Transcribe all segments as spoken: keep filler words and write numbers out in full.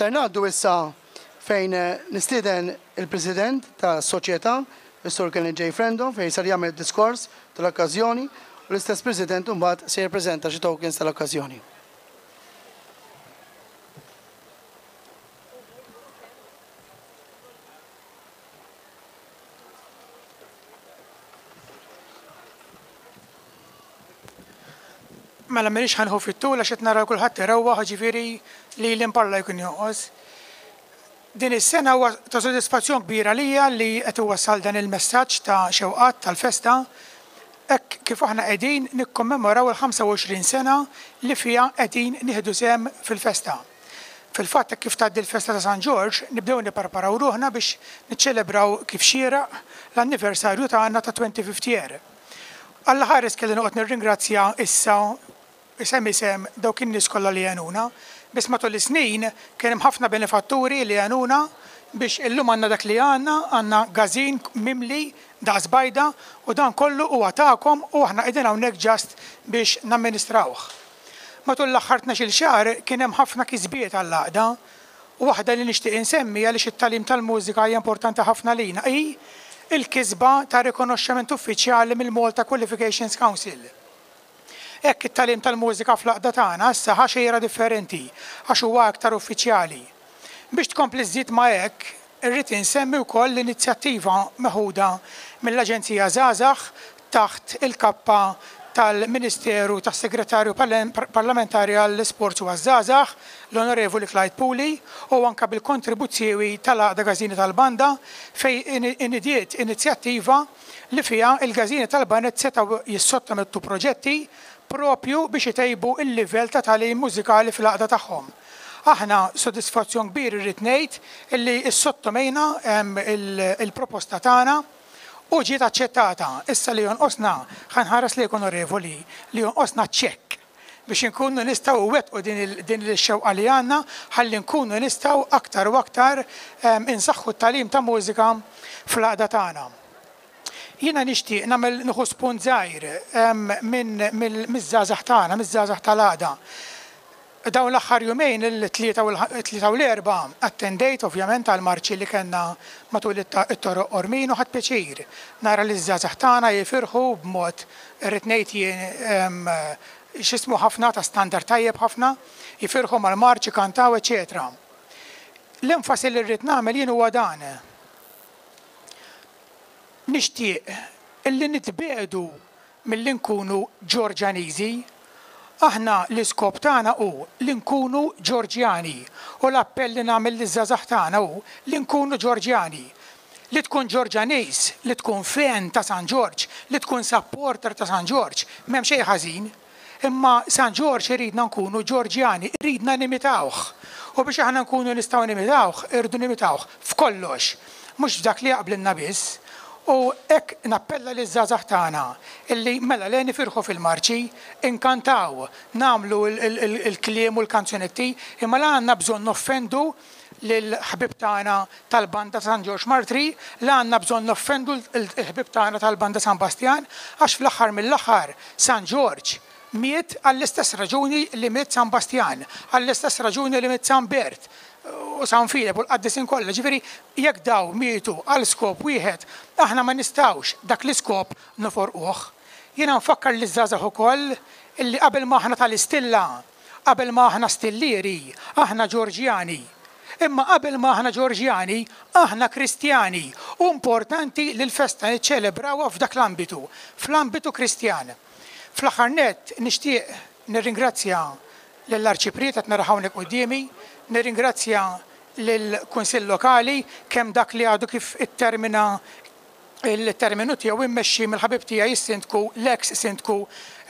Ser ngħaddu issa fejn nistieden il-President tas-Soċjetà, is-Sur Kenneth J. Frendo, fejn ser jagħmel diskors tal-okkażjoni u l-istess President imbagħad se jippreżenta xi tokens tal-okkażjoni. Mela m'iniex ħa nieħu fit-tul għax qed nara kulħadd irewwaħ, ġifieri li l-imparla jkun jonqos. Din is-sena huwa ta' sodisfazzjon kbira lija li qed iwassal dan il-messaġġ ta' xewqat tal-festa hekk kif aħna qegħdin nikkommemoraw il-ħamsa u għoxrin sena li fiha qegħdin nieħdu sehem fil-festa. Fil-fatt hekk kif tgħaddi l-festa ta' San Ġorġ nibdew nippreparaw ruħna biex niċċelebraw kif xieraq l-anniversarju tagħna ta' twenty-fifth year. Alla ħares kelli noqgħod nirringrazzja issa isem isem dawk in-nies kollha li għenuna, biss matul is-snin kien hemm ħafna benefatturi li għenuna biex illum għandna dak li għandna, għandna gażin mimli daqs bajda u dan kollu huwa tagħkom u aħna qegħdin hawnhekk ġast biex namministrawh. Matul l-aħħar tnax-il xahar kien hemm ħafna kisbiet għall-għaqda u waħda li nixtieq insemmi għaliex it-tagħlim tal-mużika hija importanti ħafna lina hi il-kisba ta' rikonoxximent uffiċjali mill-Malta Qualifications Council. Hekk it-tagħlim tal-mużika fl-għaqda tagħna issa ħa xejra differenti għax huwa aktar uffiċjali. Biex tkompli żżid ma' hekk, irrid insemmi wkoll l-inizjattiva meħuda mill-Aġenzija Żgħażagħ taħt il-kappa tal-Ministeru tas-Segretarju Parlamentari għall-Isports u għaż-Żgħażagħ, l-Onorevoli Clyde Puli, u anke bil-kontribuzzjoni tal-Għaqda Gażini tal-Banda fejn inidiet inizjattiva li fiha il-Gażini tal-Baned setgħu jissottomettu proġetti propju biex itejbu il-livell ta' tagħlim mużikali fil-għaqda tagħhom. Aħna sodisfazzjon kbir irrid ngħid illi ssottomejna, ehm, il-proposta tagħna u ġiet aċċettata. Issa li jonqosna, ħa nħares lejk onorevoli, li jonqosna ċekk biex inkunu nistgħu nwettqu din il-, din il-xewqa li għandna, ħalli nkunu nistgħu aktar u aktar, ehm, insaħħu t-tagħlim ta' mużika fl-għaqda tagħna. Jiena nixtieq nagħmel nieħu spunt żgħir, ehm, minn, mill-, miż-żgħażagħ tagħna, miż-żgħażagħ tal-għaqda. Dawn l-aħħar jumejn, il-tlieta u l-, tlieta u l-erba', attendejt ovvjament għal marċi li kellna matul it-ta-, it-toroq Qormin u ħadt pjaċir nara li ż-żgħażagħ tagħna jifirħu b'mod irrid ngħid jien, ehm, x'ismu ħafna ta' standard tajjeb ħafna, jifirħu mal-marċi, kantaw, eċċetera. L-enfasi li rrid nagħmel jien huwa dan. Nixtieq illi nitbedu milli nkunu Ġorġaniżi. Aħna l-iskop tagħna hu li nkunu Ġorġjani u l-appell li nagħmel liż-żgħażagħ tagħna hu li nkunu Ġorġjani. Li tkun Ġorġaniż, li tkun fan ta' San Ġorġ, li tkun supporter ta' San Ġorġ, m'hemm xejn ħażin. Imma San Ġorġ iridna nkunu Ġorġjani, iridna nimitawh. U biex aħna nkunu nistgħu nimitawh, irridu nimitawh f'kollox, mhux f'dak li jaqblilna biss. U hekk nappella liż-żgħażagħ tagħna illi mela le nifirħu fil-marċi, inkantaw, nagħmlu il-, il-, il-, il-kliem u l-kanzunetti, imma la għandna bżonn noffendu lill-ħbib tagħna tal-banda San Ġorġ Martri, la għandna bżonn noffendu l-ħbib tagħna tal-banda San Bastjan, għax fl-aħħar mill-aħħar San Ġorġ miet għall-istess raġuni li miet San Bastjan, għall-istess raġuni li miet San Bert u San Filep u l-qaddisin kollha. Ġifieri jekk daw mietu għal skop wieħed, aħna ma nistgħux dak l-iskop noforquh. Jiena nfakkar liż-żgħażagħ ukoll illi qabel ma aħna tal-istilla, qabel ma aħna stillieri, aħna Ġorġjani. Imma qabel ma aħna Ġorġjani, aħna Kristjani. U importanti li l-festa niċċelebrawha f'dak l-ambitu, fl-ambitu Kristjan. Fl-aħħar nett nixtieq nirringrazzja lill-Arċipriet qed nara hawnhekk quddiemi, nirringrazzja lill-Kunsill Lokali kemm dak li għadu kif ittermina il-terminu tiegħu immexxi mill-ħabib tiegħi is-sindku, l-ex sindku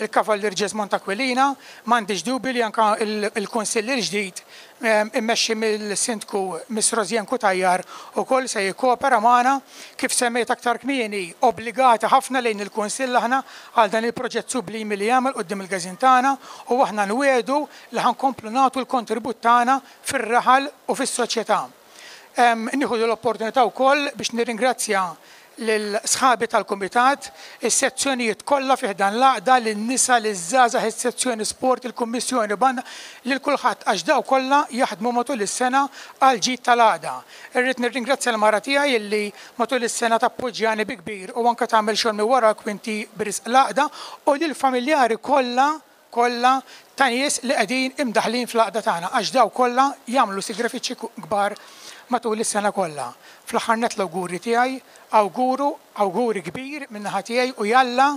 il-Kavallier Jesmond Aquilina, m'għandix dubju li anke il-, il-Kunsill il-ġdid, ehm, immexxi mill-sindku Miss Rosianne Cutajar ukoll se jikkopera magħna. Kif semmejt aktar kmieni, obbligati ħafna lejn il-Kunsill aħna għal dan il-proġett sublimi li jagħmel quddiem il-każin tagħna u aħna nwiegħdu li ħankomplu nagħtu l-kontribut tagħna fir-raħal u fis-soċjetà. Ehm, nieħu l-opportunità wkoll biex nirringrazzja lil sħabi tal-kumitat, is-sezzjonijiet kollha fih dan l-għaqda, lin-nisa, liż-żgħażagħ, is-sezzjoni sport, il-kummissjoni banda, lil kulħadd għax daw kollha jaħdmu matul is-sena għal ġid tal-għaqda. Irrid nirringrazzja l-mara tiegħi illi matul is-sena tappoġġjani bi kbir u anke tagħmel xogħol minn wara kwinti b'risq l-għaqda u lill-familjari kollha kollha ta' nies li qegħdin imdaħlin fl-għaqda tagħna għax daw kollha jagħmlu sagrifiċċji kbar matul is-sena kollha. Fl-aħħar nett l-awguri tiegħi, awguru, awguri kbir min-naħa tiegħi u jalla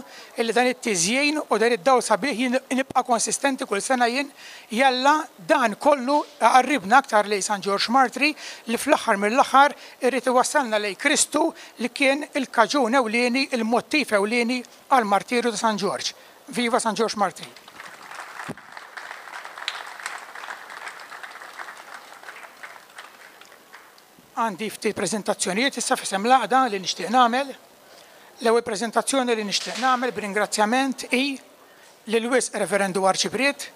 illi dan it-tiżjin u dan id-dawl sabiħ jien nibqa' konsistenti kull sena jien, jalla dan kollu qarribna aktar lejn San Ġorġ Martri li fl-aħħar mill-aħħar irid iwassalna lejn Kristu li kien il-kaġun ewlieni, il-mottiv ewlieni għall-martirju ta' San Ġorġ. Viva San Ġorġ Martri! Għandi ftit preżentazzjonijiet issa f'isem l-għaqda li nixtieq nagħmel. L-ewwel preżentazzjoni li nixtieq nagħmel b'ringrazzjament hi lil wisq Reverendu Arċipriet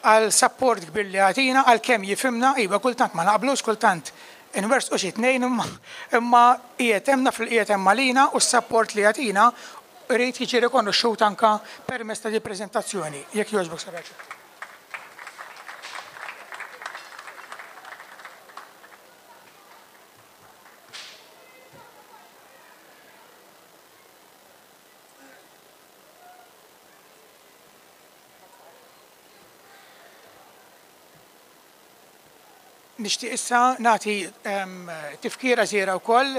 għal sapport kbir li għatina, għal kemm jifhimna, iva kultant ma naqblux, kultant inwersqu xi tnejn imma qiegħed hemm naf li qiegħed hemm għalina u s-sapport li jagħtina irid jiġi rikonoxxut anke permezz ta' di preżentazzjoni. Jekk jogħġbok Sir Arċipriet. Nixtieq issa nagħti tifkira żgħira wkoll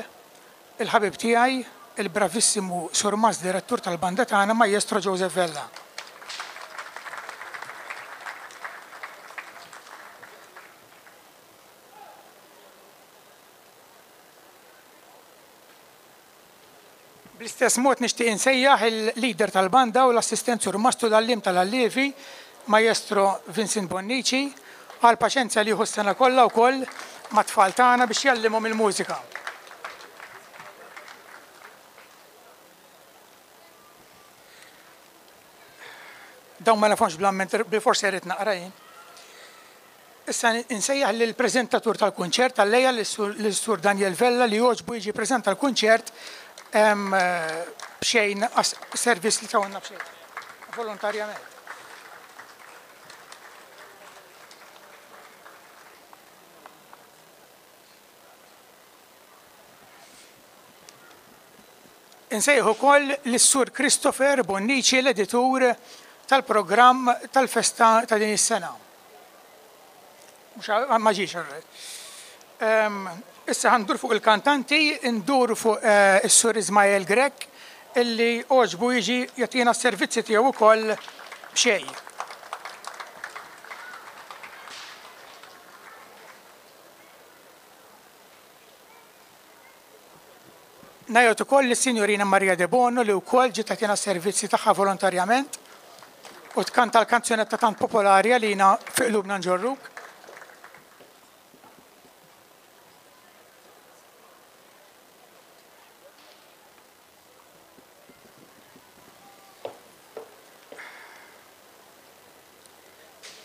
il-ħabib tiegħi, il-bravissimu Surmast Direttur tal-banda tagħna, Maestro Joseph Vella. Bl-istess mod nixtieq insejjaħ il-leader tal-banda u l-assistent Surmast u l-għalliem tal-allievi, Maestro Vincent Bonnici, għal paċenzja li jieħu s-sena kollha wkoll mat-tfal tagħna biex jallimhom il-mużika. Dawn ma nafhomx bl-amment, bil-forsi rrid naqra jien. Issa insejjaħ lill-preżentatur tal-kunċert tal-lejja lis-Sur Daniel Vella li jogħġbu jiġi preżenta l-kunċert b'xejn servizz li tawna b'xejn, volontarjament. Insejħu wkoll lis-Sur Christopher Bonnici, l-editur tal-programm tal-festa ta' din is-sena. Mhux ma ġiex arret. Issa ħandur fuq il-kantanti, ndur fuq is-Sur Ismael Grech illi għoġbu jiġi jagħtina s-servizzi tiegħu wkoll b'xejn. Ngħid ukoll lis-Sinjorina Maria De Bono li wkoll ġiet tagħtina s-servizzi tagħha volontarjament u tkanta l-kanzunetta tant popolari għalina fi qlubna nġorruk.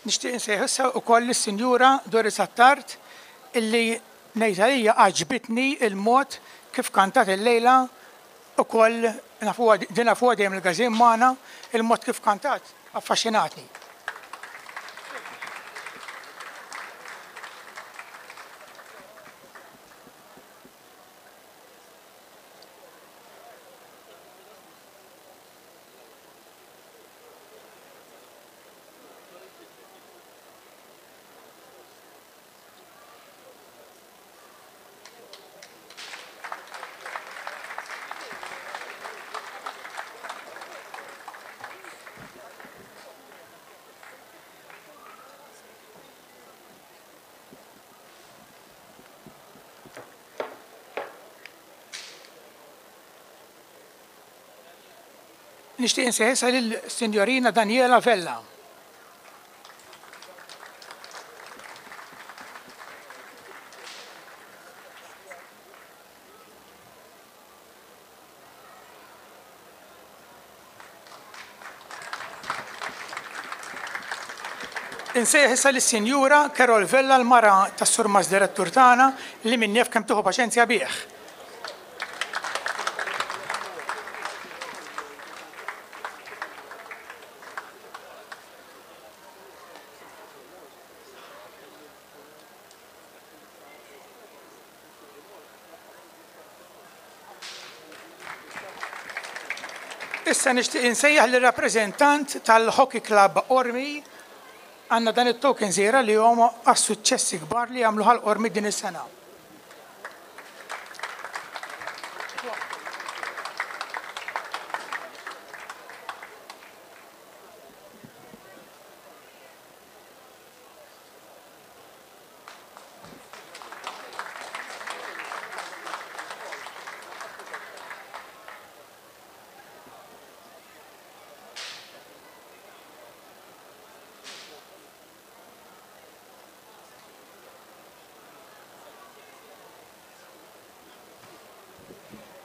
Nixtieq insejħ issa wkoll lis-Sinjura Doris Attard illi ngħid għalija għaġbitni il-mod kif kantat il-lejla ukoll nafuha din nafuha dejjem il-każin magħna, il-mod kif kantat affaxxinatni. Nixtieq insejħ lil-Sinjorina Daniela Vella. Insejħ issa lis-Sinjura Carol Vella, l-mara tas-Surmast Direttur tagħna li min jaf kemm tieħu paċenzja bih. Issa nixtieq insejjaħ lir-rappreżentant tal-Hockey Club Qormi. Għandna dan it-token żgħira li huma għas-suċċessi kbar li għamlu Ħal Qormi din is-sena.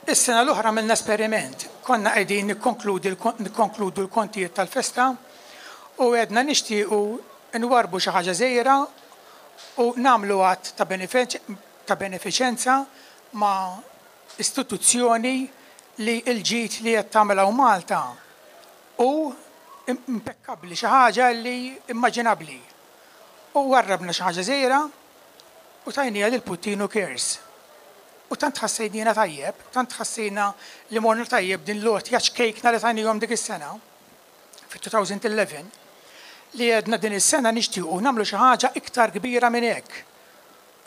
Is-sena l-oħra għamilna esperiment. Konna qegħdin nikkonkludu l-kontijiet tal-festa u għedna nixtiequ nwarbu xi ħaġa żgħira u nagħmlu att ta' benefiċenza ma' istituzzjoni li l-ġid li qed tagħmel hawn Malta u impekkabbli, xi ħaġa li immaġinabbli. U warrabna xi ħaġa żgħira u tajniha lil Puttinu Cares. U tant ħassejnina tajjeb, tant ħassejna li morna tajjeb din l-għotja ċkejkna li tajnihom dik is-sena, fit-elfejn u ħdax, li għedna din is-sena nixtiequ nagħmlu xi ħaġa iktar kbira minn hekk.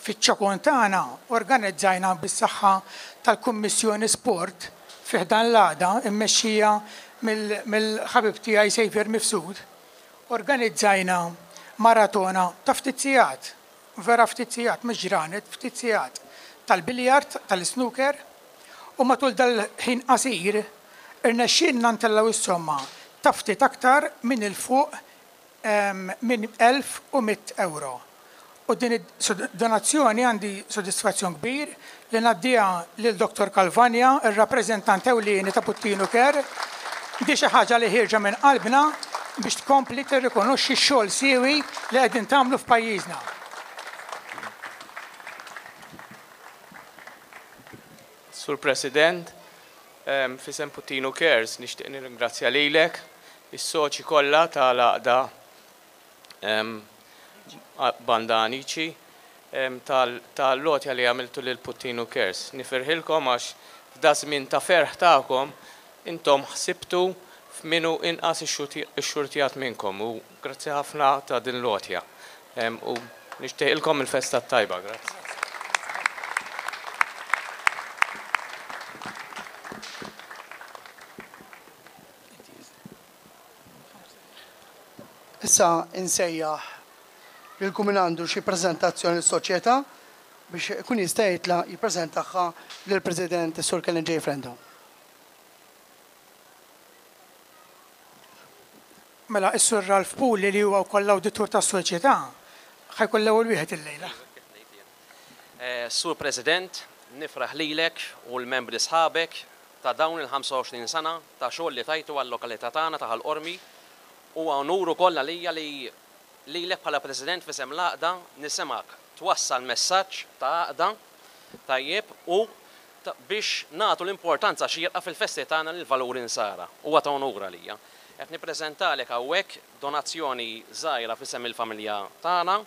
Fiċ-ċokon tagħna organizzajna bis-saħħa tal-Kummissjoni Sport fi ħdan l-għaqda immexxija mill-ħabib tiegħi Xavier Mifsud, organizzajna maratona ta' ftit sigħat, vera ftit sigħat, mhux ġranet, ftit sigħat, tal-biljard, tal-snooker, u matul dal-ħin qasir irnexxielna ntellgħu is-somma ta' ftit aktar minn il-fuq minn elf u mitt euro. U din donazzjoni għandi soddisfazzjon kbir li ngħaddiha lil Dottor Calvagna, ir-rappreżentant ewlieni ta' Puttinu Care. Di xi ħaġa li ħierġa minn qalbna biex tkompli tirrikonoxxi x-xogħol siewi li qegħdin tagħmlu f'pajjiżna. Sur President, f'isem Puttinu Cares nixtieq nirringrazzja lilek, is-soċi kollha tal-għaqda Banda Anici tal-għotja li għamiltu lil Puttinu Cares. Nifirħilkom għax f'da żmien ta' ferħ tagħkom intom ħsibtu f'min hu inqas ixxurtjat minnkom u grazzi ħafna ta' din l-għotja. U nixtieqilkom il-festa tajba, grazzi. Issa insejjaħ lil kull min għandu xi preżentazzjoni lis-soċjetà biex ikun jista' jitla' jippreżentaha lill-President Sur Kenneth J. Frendo. Mela, is-Sur Ralph Puli, li huwa wkoll l-awditur tas-soċjetà, ħa jkun l-ewwel wieħed illejla. Eh, Sur President, nifraħ lilek u l-membri sħabek ta' dawn il-ħamsa u għoxrin sena ta' xogħol li tajtu għal-lokalità tagħna ta' Ħal Qormi. Huwa onur ukoll għalija li lilek bħala President f'isem l-għaqda nisimgħek twassal messaġġ ta' għaqda tajjeb u biex nagħtu l-importanza xierqa fil-festi tagħna lil valuri nsara. Huwa ta' onur għalija. Qed nippreżentalek hawnhekk donazzjoni żgħira f'isem il-familja tagħna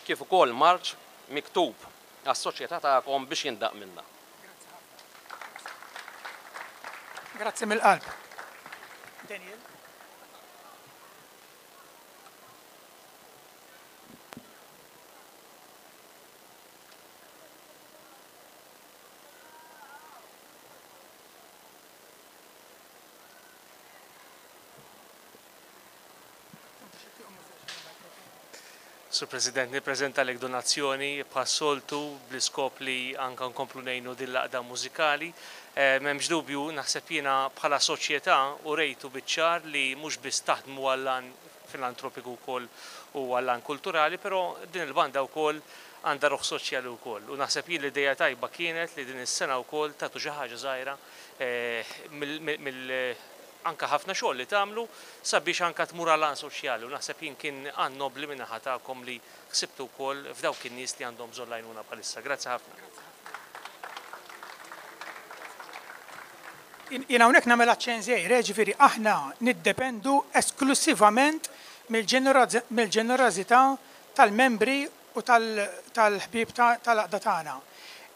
kif ukoll marċ miktub għas-soċjetà tagħkom biex jindaq minna. Grazzi mill-qalb. Daniel. Sur President, nippreżentalek donazzjoni bħas-soltu bl-iskop li anka nkomplu ngħinu din l-għaqda mużikali. Eh, M'hemmx dubju, naħseb jiena bħala soċjetà u rejtu biċ-ċar li mhux biss taħdmu għall-għan filantropiku wkoll u għall-għan kulturali, però din il-banda wkoll għandha ruħ soċjali wkoll. U naħseb jien l-idea tajba kienet li din is-sena wkoll tagħtu xi ħaġa żgħira eh, mill anka ħafna xogħol li tagħmlu sabiex anka tmur għal soċjali, u naħseb jien kien għan nobli minn naħa tagħkom li ħsibtu wkoll f'dawk in-nies li għandhom bżonn l-għajnuna bħalissa. Grazzi ħafna. Jien hawnhekk nagħmel aċċenn żgħir, eh, ġifieri aħna niddependu esklusivament mill-ġenerożità tal-membri u tal-ħbieb tal-għaqda tagħna.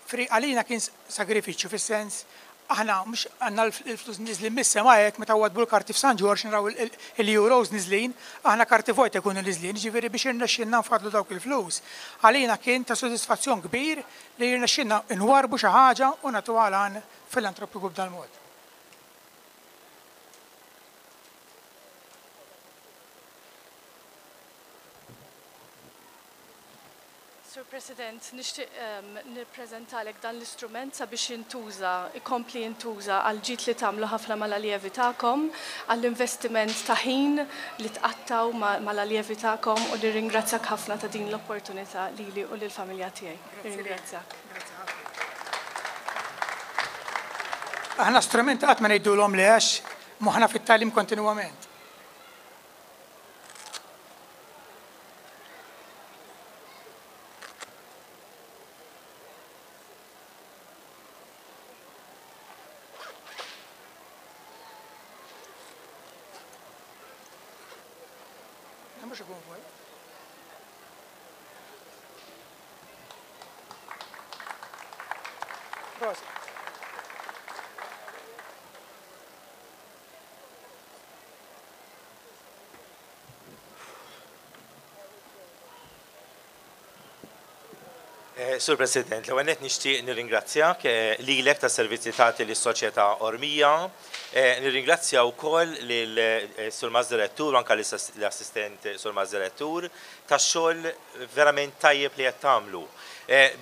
Fri għalina kien sagrifiċċju fis-sens Aħna mhux għandna l-flus niżlin mis-sema hekk meta wadbu l-karti f'San Ġorġ naraw il-euros niżlin, aħna karti vojt ikunu niżlin, ġifieri biex irnexxinna nfadlu dawk il-flus. Għalina kien ta' sodisfazzjon kbir li jirnexxinna nwarbu xi ħaġa u nagħtuha għan filantropiku b'dal-mod. Sur President, nixtieq nippreżentalek dan l-istrument sabiex jintuża, ikompli jintuża għal ġid li tagħmlu ħafna mal-aljevi tagħkom, għall-investiment ta' ħin li tqattaw mal-aljevi tagħkom u nirringrazzjak ħafna ta' din l-opportunità lili u lill-familja tiegħi. Nirringrazzjak. Aħna strument qatt ma ngħidulhom li għax moħħna fit-tagħlim kontinwament. Sur President, l-ewwel nett nixtieq nirringrazzjak lilek tas-servizzi tagħti lis-Soċjetà Ormija, nirringrazzja wkoll lil Sur Mas Direttur u anke l-assistent Sur Mas Direttur tax-xogħol verament tajjeb li qed tagħmlu.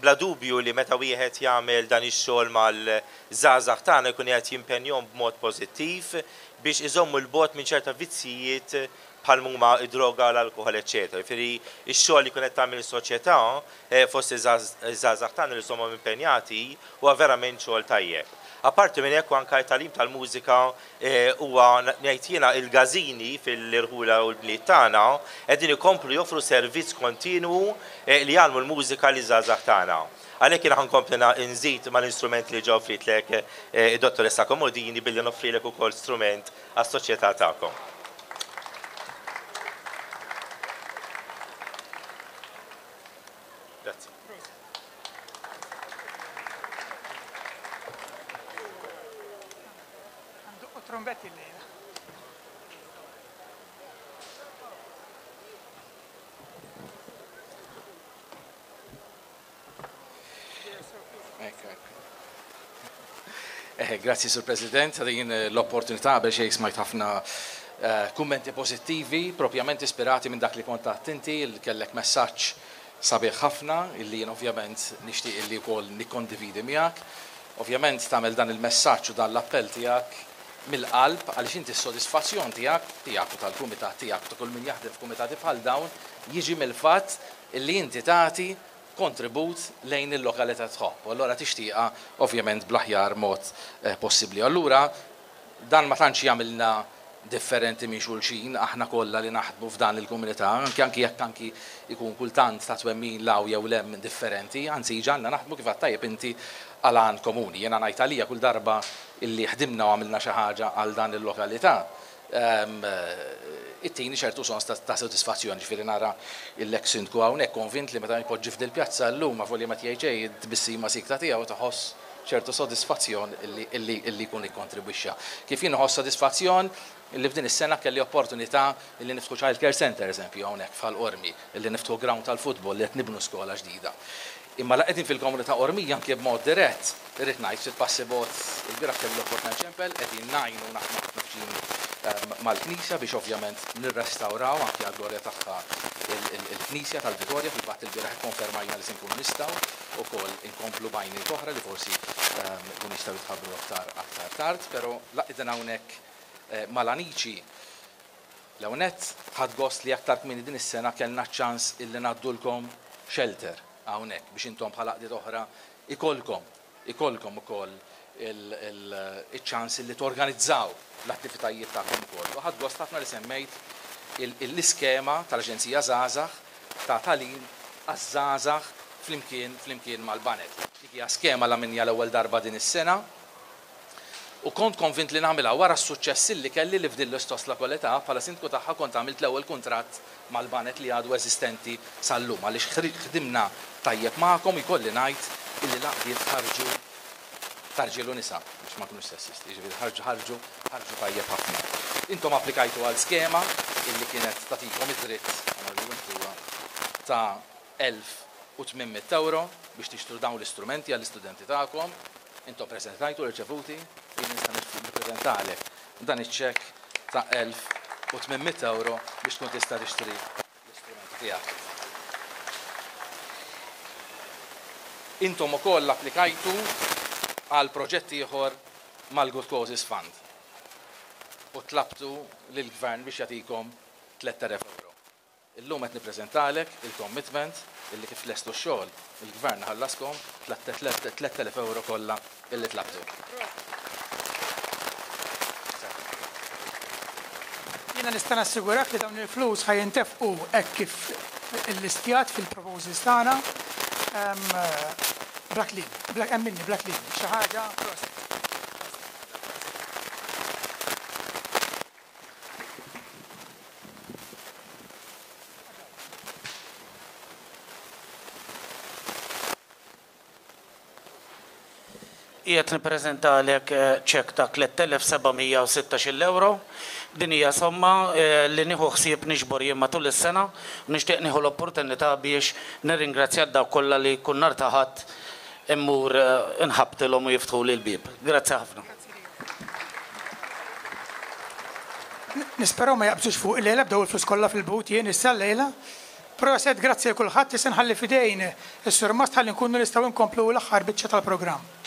Bla dubju li meta wieħed jagħmel dan ix-xogħol mal-żgħażagħ tagħna jkun qed jimpenjhom b'mod pożittiv biex iżommu l-bogħod minn ċerta vizzijiet bħal huma id-droga, l-alkohol, eċċetera. Jiġifieri x-xogħol li jkun qed tagħmel is-soċjetà fost iż-żgħażagħ tagħna li żommhom impenjati huwa verament xogħol tajjeb. Apparti minn hekk anke t-tagħlim tal-mużika huwa ngħid jiena il-gażini fil-irħula u l-bliet tagħna qegħdin ikomplu joffru servizz kontinwu li jgħallmu l-mużika liż-żgħażagħ tagħna. Għalhekk jiena ħankompli nżid mal-instrument li ġew offritlek id-dottoressa Comodini billi noffrilek ukoll strument għas-soċjetà tagħkom. Grazie. Trombetti l-lejla. Grazzi, Sur President, ta' din l-opportunità biex xejn smajt ħafna kummenti pożittivi, propjament ispirati minn dak li kont inti, li kellek messaġġ sabiħ ħafna, illi jien ovvjament nixtieq illi wkoll nikkondividi miegħek. Ovvjament tagħmel dan il-messaġġ u dan l-appell tiegħek mill-qalb għaliex inti s-sodisfazzjon tiegħek, tiegħek u tal-kumitat tiegħek ta' kull min jaħdem f'kumitati bħal dawn jiġi mill-fatt illi inti tagħti kontribut lejn il-lokalità tħobb. U allura tixtieqha ovvjament bl-aħjar mod possibbli. Allura dan ma tantx jagħmilna differenti minn xulxin, aħna kollha li naħdmu f'dan il-komunità, anki anki jekk anki ikun kultant ta' twemmin law jew lem differenti, anzi ġanna naħdmu kif tajjeb inti għal għan komuni. Jiena ngħid għalija kull darba illi ħdimna u għamilna xi ħaġa għal dan il-lokalità, it-tieni ċertu sens ta' sodisfazzjoni, ġifieri nara l-eks sindku hawnhekk konvint li meta jpoġġi f'dil pjazza llum ma folja ma tgħid xejn tbissima sikta tiegħu taħoss ċertu sodisfazzjon illi jkun ikkontribwixxa. Kif jien nħoss sodisfazzjon illi f'din is-sena kelli opportunità illi niftħu Child Care Center eżempju hawnhekk f'Ħal Qormi, illi niftħu ground tal-futbol li qed nibnu skola ġdida. Imma la qegħdin fil-komunità Qormija anke b'mod dirett, irrid ngħid ftit passi bogħod il-bieraħ kelli l-opportunità ċempel, qegħdin ngħinu naħdmu ħafna viċin mal-Knisja biex ovvjament nirrestawraw anke għall-glorja tagħha il-Knisja tal-Vitorja. Fil-fatt il-bieraħ ikkonfermajna li se nkunu nistgħu wkoll inkomplu b'għajniet oħra li forsi jkunu jistgħu jitħabbru aktar aktar tard, però la qegħdin hawnhekk mal-amiċi l-ewwel nett ħadd gost li aktar kmieni din is-sena kellna ċ-ċans illi ngħaddulkom shelter hawnhekk biex intom bħala għaqdiet oħra ikolkom ikolkom ukoll il-ċans li torganizzaw l-attivitajiet tagħkom ukoll. U ħadd gost ħafna li semmejt l-iskema tal-Aġenzija Żgħażagħ ta' tagħlim għaż-żgħażagħ flimkien flimkien mal-Banet. Dik hija skema la minja l-ewwel darba din is-sena u kont konvint li nagħmilha wara s-suċċess li kelli li f'din l-istess lokalità bħala sindku tagħha kont għamilt l-ewwel kuntratt mal-Banet li għadu eżistenti sal-lum għaliex ħdimna tajjeb magħkom. Ikolli ngħid illi l-għaqdiet ħarġu tarġiel u nisa, biex biex ma nkunux sessisti, jiġifieri ħarġu ħarġu ħarġu tajjeb ħafna. Intom applikajtu għal skema illi kienet tagħtikom id-dritt ta' elf u tmien mitt euro biex tixtru dawn l-istrumenti għall-istudenti tagħkom. Intom preżentajtu l-irċevuti, jien nista' nippreżentalek dan iċ-ċekk ta' elf u tmien mitt euro biex tkun tista' tixtri l-istrumenti tiegħek. Intom ukoll applikajtu għal proġett ieħor mal-Good Causes Fund u tlabtu lill-gvern biex jagħtikom tlett elef euro. Illum qed nippreżentalek il-commitment illi kif lestu x-xogħol il-gvern ħallaskom tlett elef euro kollha illi tlabtu. Jiena nista' nassigurak li dawn il-flus ħajintefqu hekk kif illistjat fil-proposals tagħna. Bla kliem, bla emminni, bla kliem, xi ħaġa proset. Qiegħed nippreżentalek ċekk ta' tliet elef seba' mija u sittax-il euro. Din hija somma li nieħu ħsieb niġbor jien matul is-sena u nixtieq nieħu l-opportunità biex nirringrazzja dawk kollha li kull nhar ta' Ħadd immur inħabtilhom u jiftħuli l-bieb. Grazzi ħafna. Nisperaw ma jaqbżux fuq il-lejla bdew il-flus kollha fil-but jien issa l-lejla. Proset, grazzi lil kulħadd, issa nħalli f'idejn is-Sur Mast ħalli nkunu nistgħu nkomplu l-aħħar biċċa tal-programm.